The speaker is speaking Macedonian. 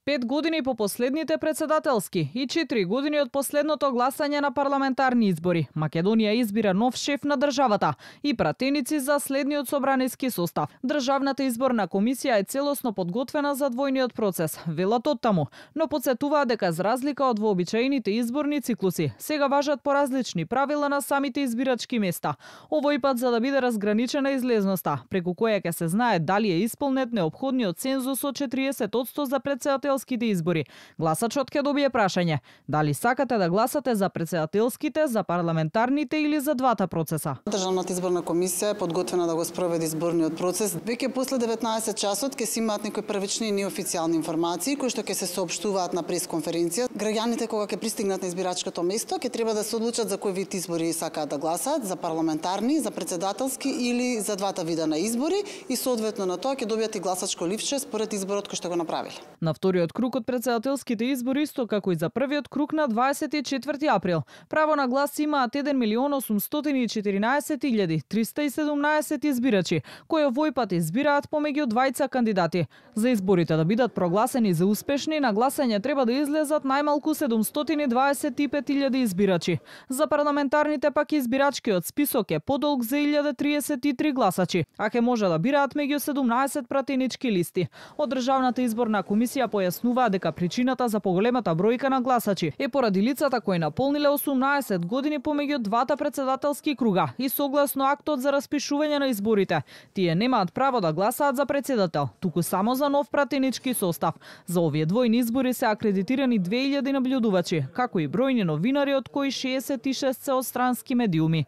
5 години по последните председателски и 4 години од последното гласање на парламентарни избори, Македонија избира нов шеф на државата и пратеници за следниот собраниски состав. Државната изборна комисија е целосно подготвена за двојниот процес, велат оттаму, но потсетуваат дека за разлика од вообичаените изборни циклуси, сега важат поразлични правила на самите избирачки места. Овој пат за да биде разграничена излезноста, преку која ќе се знае дали е исполнет неопходниот цензус од 40% за председателските избори. Гласачот ќе добие прашање: дали сакате да гласате за председателските, за парламентарните или за двата процеса? Државната изборна комисија е подготвена да го спроведе изборниот процес. Веќе после 19 часот ќе си имаат некои првични и неофицијални информации кои што ќе се соопштуваат на пресконференција. Граѓаните кога ќе пристигнат на избирачкото место ќе треба да се одлучат за кој вид избори сакаат да гласаат, за парламентарни, за председателски или за двата вида на избори и соодветно на тоа ќе добијат и гласачко ливче според изборот кој што го направиле. На вториот круг од председателските избори, исто како и за првиот круг на 24 април, право на глас имаат 1.814.317 избирачи, кои овој пат избираат помеѓу двајца кандидати. За изборите да бидат прогласени за успешни, на гласање треба да излезат најмалку 725.000 избирачи. За парламентарните пак избирачкиот список е подолг за 1033 гласачи, а ќе може да бираат меѓу 17 пратенички листи. Од Државната изборна комисија појаснуваа дека причината за поголемата бројка на гласачи е поради лицата кои наполниле 18 години помеѓу двата председателски круга и согласно актот за распишување на изборите. Тие немаат право да гласаат за председател, туку само за нов пратенички состав. За овие двојни избори се акредитирани 2000 наблюдувачи, како и бројни новинари, од кои 66 се од странски медиуми.